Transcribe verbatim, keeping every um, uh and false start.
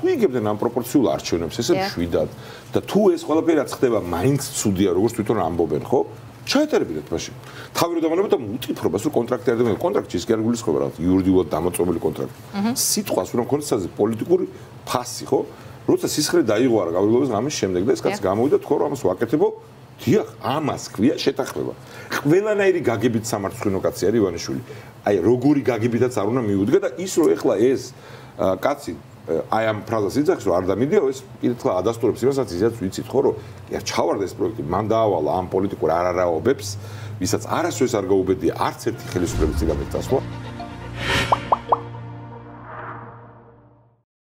თუ იგებდნენ ამ პროპორციულ არჩევნებს, ესე მშვიდად და თუ ეს ყველაფერი რაც ხდება, მაინც ცუდია, როგორც თვითონ ამბობენ, ხო? ჩაეტარებინეთ მაშინ. თავი რომ დამანებოთ და უთითხრობას, რომ კონტრაქტი არ დამეყო, კონტრაქტი ის კი არ გულისხმობა რა, იურიდიულად დამოწმებული კონტრაქტი. სიტყვას რომ კონსტანტზე პოლიტიკური ფასი, ხო? როცა სისხლი დაიღوارა გავრილობის ღამის შემდეგ და ეს კაცი გამოვიდა თქო რომ ამას ვაკეთებო, დიახ, ამას ქვია შეთანხმება. ყველანაირი გაგებით სამართლიანო კაცი არის ივანიშვილი. აი როგორი გაგებითაც არ უნდა მიუდგა და ის რომ ეხლა ეს კაცი აი ამ ფრაზას იძახის რომ არ დამიდიო ეს კიდევ ადასტურებს იმასაც ისაც ვიცით ხო რომ ია ჩავარდა ეს პროექტი მან დაავალა ამ პოლიტიკურ არარაობებს ვისაც არასოდეს არ გაუბედია არც ერთი ხელისუფლების წინამძღოლი